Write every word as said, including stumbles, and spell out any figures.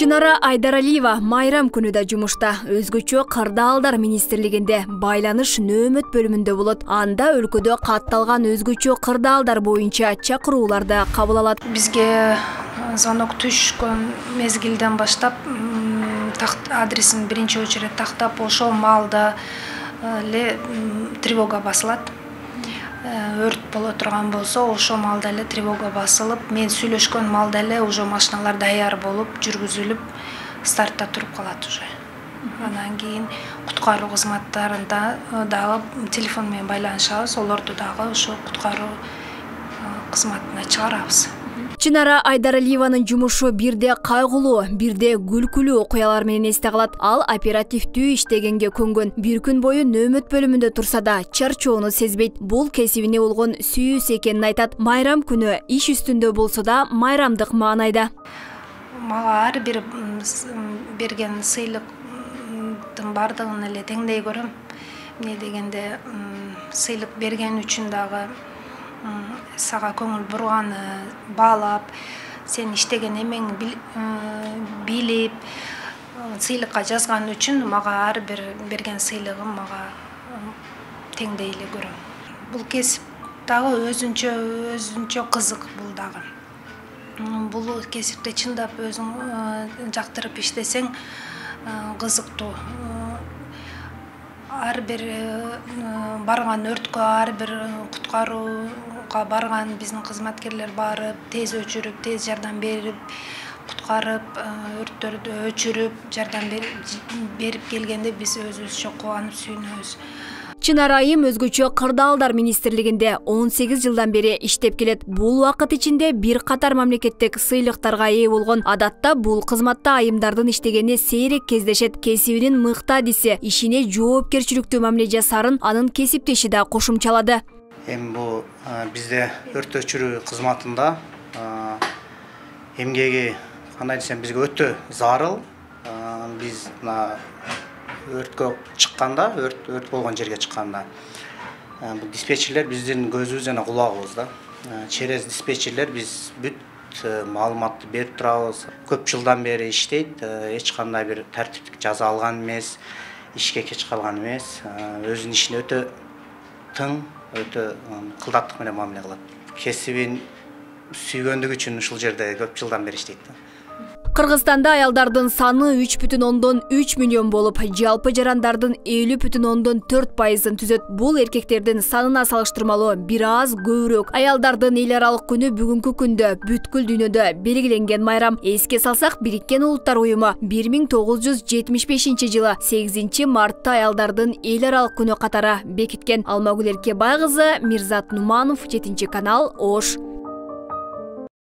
Чынара Айдаралиева майрам күнүдө жумушта. Өзгөчө Кырдаалдар министрлигинде байланыш нөөмөт бөлүмүндө болот. Анда өлкөдө катталган өзгөчө кырдаалдар боюнча чакырууларды кабыл алат. Бизге звонок түшкөн мезгилден баштап адресин биринчи очередь тактап, ошол маалда эле тревога басылат. Өрт боло турган болсо, ошол маалда эле тревога басылып, мен сүйлөшкөн маалда эле уже машиналар даяр болуп, жүргүзүлүп, стартта туруп калат уже. Андан кийин куткаруу кызматтарында дагы телефон менен байланышабыз, олорду дагы ошо куткаруу кызматына чыгарабыз. Чынара Айдаралиеванын жумушу бирде кайгылуу, бирде күлкүлүү окуялар менен эсте калат. Ал оперативдүү иштегенге көнгөн. Бир күн бою нөөмөт бөлүмүндө турса да, чарчоону сезбейт. Бул кесибине болгон сүйүүсү экенин айтат. Майрам күнү иш үстүндө болсо да, майрамдык маанайда. Мага ар бир берген сыйлыктын бардыгын эле теңдей көрөм. Эмне дегенде, сыйлык берген үчүн дагы сага көңүл бурганы баалап, сен иштеген эмеңи билип, сыйлыкка жазган үчүн мага ар бир берген сыйлыгым мага теңдей эле көрөм. Бул кесип дагы өзүнчө өзүнчө кызык бул дагы. Бул кесипте чындап өзүң жактырып иштесең кызыктуу. Ар бир барган өрткө, ар бир куткарууга барган биздин кызматкерлер барып, тез өчүрүп, тез жардам берип, куткарып, өрттөрдү өчүрүп, жардам берип келгенде биз өзүбүзчө кубанып сүйүнөбүз. Чынара айым өзгөчө Кырдаалдар министрлигинде он сегиз жылдан бери иштеп келет. Бул убакыт ичинде бир катар мамлекеттик сыйлыктарга ээ болгон. Адатта бул кызматта айымдардын иштегени сейрек кездешет. Кесибинин мыкты адиси, ишине жоопкерчиликтүү мамиле жасарын анын кесиптеши да кошумчалады. Эми бул бизде өрт өчүрүү кызматында эмгеги кандай десем бизге өтө зарыл. Биз өрткө чыкканда, өрт өрт болгон жерге чыкканда, бул диспетчерлер биздин көзүбүз жана кулагыбыз да. Через диспетчерлер биз бүт маалыматты берип турабыз. Көп жылдан бери иштейт, эч кандай бир тартиптик жаза алган эмес, ишке кеч калган эмес, өзүнүн ишин өтө тың, өтө кылдаттык менен мамиле кылат. Кесибин сүйгөндүгү үчүн ушул жерде көп жылдан бери иштейт. Кыргызстанда аялдардын саны үч бүтүн ондон үч миллион болуп, жалпы жарандардын элүү бүтүн ондон төрт пайызын түзөт. Бул эркектердин санына салыштырмалуу бир аз көбүрөөк. Аялдардын эл аралык күнү бүгүнкү күндө бүткүл дүйнөдө белгиленген майрам. Эске салсак, Бириккен Улуттар уюму бир миң тогуз жүз жетимиш бешинчи жылы сегизинчи мартта аялдардын эл аралык күнү катары бекиткен. Алмагүл Эркебай кызы, Мирзат Нуманов, жетинчи канал, Ош.